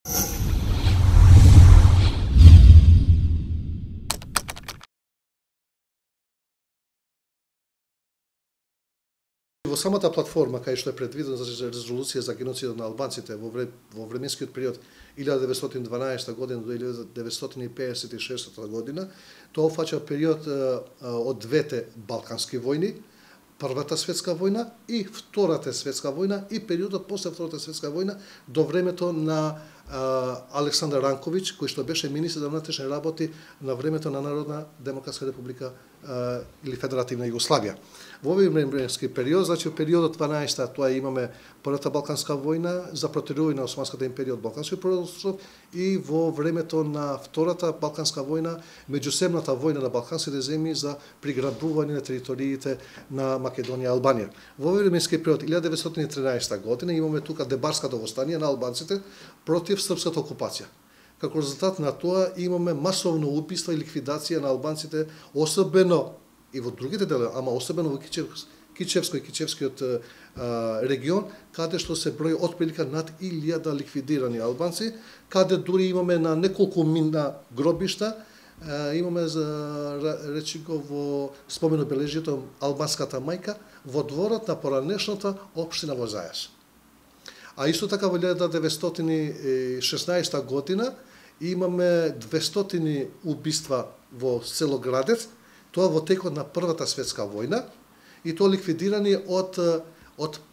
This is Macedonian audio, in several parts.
Во самата платформа, кај што е предвидена за резолуција за геноцидот на албанците во временскиот период 1912 година до 1956 година, тоа опфаќа период од двете балкански војни, Првата светска војна и Втората светска војна и периодот после Втората светска војна до времето на Александар Ранковиќ, кој што беше министер за внатрешни работи на времето на Народна демократска република или Федеративна Југославија. Во овој временски период, значи во периодот 12-та, тоа имаме Првата балканска војна за протерување на Османската империја од Балканскиот полуостров и во времето на Втората балканска војна, меѓусебната војна на балканските земји за приграбување на териториите на Македонија и Албанија. Во овој временски период 1913 година имаме тука Дебарското востание на албанците против српската окупација. Како резултат на тоа имаме масовно убиство и ликвидација на албанците, особено и во другите делови, ама особено во Кичевско и Кичевскиот регион, каде што се брои отприлика над 1000 ликвидирани албанци, каде дури имаме на неколку минна гробишта, имаме речи го во спомен обележјето албанската мајка во дворот на поранешната општина во Зајаш. А исто така во 1916 година имаме 200 убиства во село Градец, тоа во текот на Првата светска војна, и тоа ликвидирани од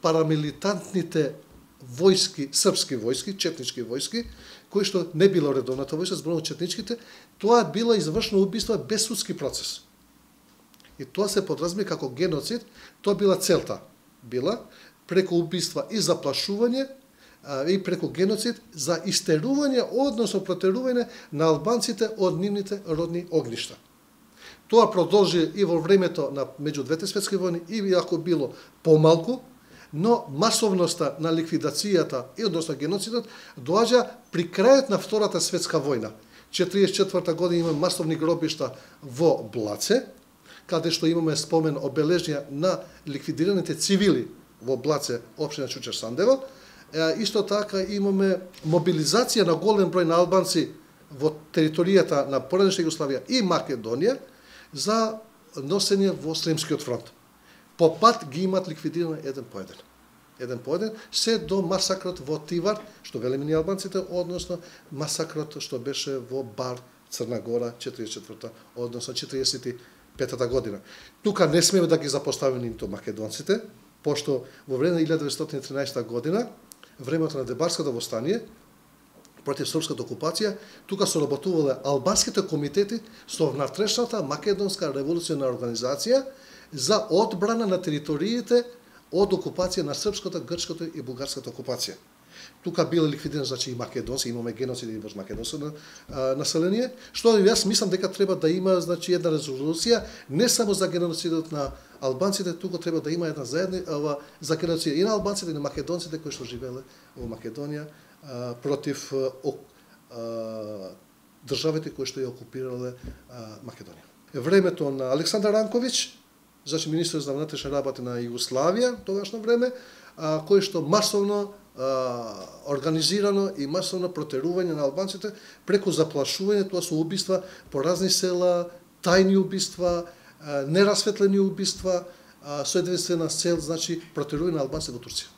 парамилитантните војски, српски војски, четнички војски, кои што не било редовната војска, зборувам четничките, тоа било извршено убиство без судски процес. И тоа се подразбира како геноцид, тоа била целта. Била преку убиства и заплашување и преку геноцид за истерување, односно протерување на албанците од нивните родни огништа. Тоа продолжи и во времето на меѓу двете светски војни, и иако било помалку, но масовноста на ликвидацијата и односно геноцидот доаѓа при крајот на Втората светска војна. 1944 година имаме масовни гробишта во Блаце, каде што имаме спомен обележња на ликвидираните цивили во Блаце, општина Чучер Сандево. Исто така имаме мобилизација на голем број на албанци во територијата на поранешна Југославија и Македонија за носење во Сремскиот фронт. По пат ги имат ликвидирано еден по еден, се до масакрот во Тивар, што велиме ни албанците, односно масакрот што беше во Бар, Црна Гора, 44-та, односно 45-та година. Тука не смеме да ги запоставиме нито македонците, пошто во време на 1913 година, времето на Дебарското востание, против српската окупација, тука соработувале албанските комитети со внатрешната македонска револуционарна организација за одбрана на териториите од окупација на српската, грчката и бугарската окупација. Тука било ликвидирано, значи, и македонци, имаме геноциди во македонско население, што јас мислам дека треба да има, значи, една резолуција не само за геноцидот на албанците, туку треба да има една заедно за геноцид и на албанците и на македонците кои што живееле во Македонија против државите кои што ја окупирале Македонија. Времето на Александар Ранковиќ, значи министер за внатрешни работи на Југославија, тогашно време, кој што масовно организирано и масовно протерување на албанците преку заплашување, тоа се убиства по разни села, тајни убиства, нерасветлени убиства, со единствена цел, значи, протерување на албанците во Турција.